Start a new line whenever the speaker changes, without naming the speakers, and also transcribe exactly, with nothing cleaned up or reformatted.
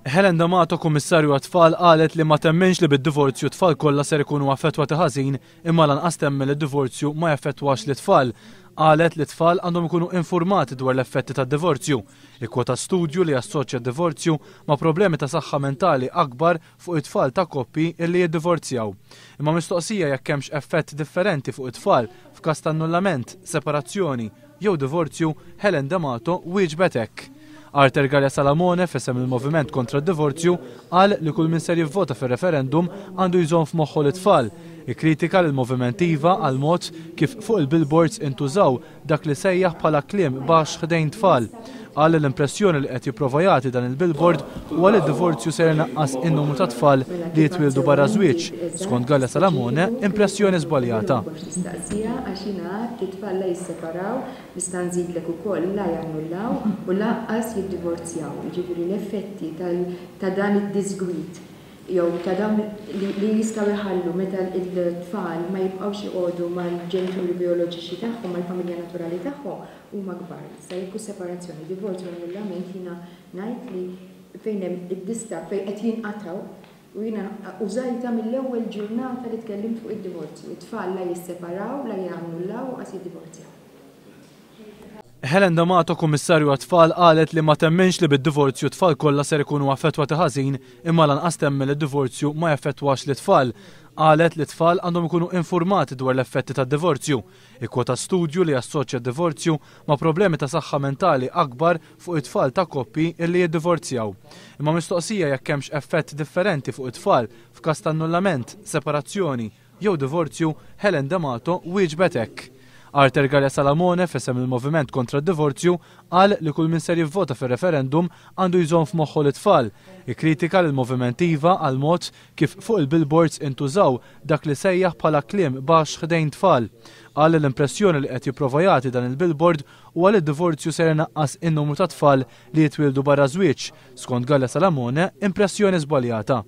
Helen D'Amato, Kummissarju għat-Tfal, qalet li ma temminx li bid-divorzju tfal kollha ser ikunu affettwati ħażin, imma lanqas temmen li d-divorzju ma jaffettwax lit-tfal. Qalet li tfal għandhom ikunu informati dwar l-effetti tad-divorzju. Ikkwota studju li assoċja d-divorzju ma' problemi ta' saħħa mentali akbar fuq it-tfal ta' koppji illi jiddivorzjaw. Imma mistoqsija jekk hemmx effett differenti fuq it-tfal f'każ ta' annullament, separazzjoni jew divorzju, Helen D'Amato wieġbet hekk. Arthur Galea Salamone, f'isem il-Moviment kontra d-Divorzju, qal li kull min ser jivvota fir-referendum għandu jżomm f'moħħu l-tfal. Ikkritika l-Moviment Iva għal mod kif fuq il-billboards intużaw dak li sejjaħ bħala kliem baxx ħdejn tfal. Qal li l-impressjoni li qed jipprova jagħti dan il-billboard huwa li d-divorzju ser inaqqas in-numru ta' tfal li jitwieldu barra żwieġ. Skont Galea Salamone, impressjoni żbaljata.
Nista' nżidlek ukoll la jannullaw u lanqas jiddivorzjaw. Jiġifieri l-effetti ta' dan id-disgwid jew ta' dawn li jistgħu jħallu meta l-tfal ma jibqgħux joqogħdu mal-ġenituri bioloġiċi tagħhom, mal-familja naturali tagħhom, huma kbar. Issa jekk separazzjoni, divorzju, annullament, jiena ngħid li fejn hemm id-distakk fejn qed jinqatgħu, u jiena użajta mill-ewwel ġurnata li tkellimt fuq id-divorzju. It-tfal la jisseparaw, la jannullaw u qas jiddivorzjaw.
Helen D'Amato, Kummissarju għat-Tfal, qalet li ma temminx li bid-divorzju tfal kollha ser ikunu affettwati ħażin, imma lanqas temmen li d-divorzju ma jaffettwax lit-tfal. Qalet li tfal għandhom ikunu informati dwar l-effetti tad-divorzju. Ikkwota studju li assoċja d-divorzju ma' problemi ta' saħħa mentali akbar fuq it-tfal ta' koppji illi jiddivorzjaw. Imma mistoqsija jekk hemmx effett differenti fuq it-tfal f'każ ta' annullament, separazzjoni jew divorzju, Helen D'Amato wieġbet hekk. Arthur Galea Salamone, f'isem il-Moviment kontra d-Divorzju, qal li kull min ser jivvota fir-referendum għandu jżomm f'moħħu l-tfal. Ikkritika l-Moviment Iva għal mod kif fuq il-billboards intużaw dak li sejjaħ bħala kliem baxx ħdejn tfal. Qal li l-impressjoni li qed jipprova jagħti dan il-billboard huwa li d-divorzju ser inaqqas in-numru ta' tfal li jitwieldu barra żwieġ. Skont Galea Salamone, impressjoni żbaljata.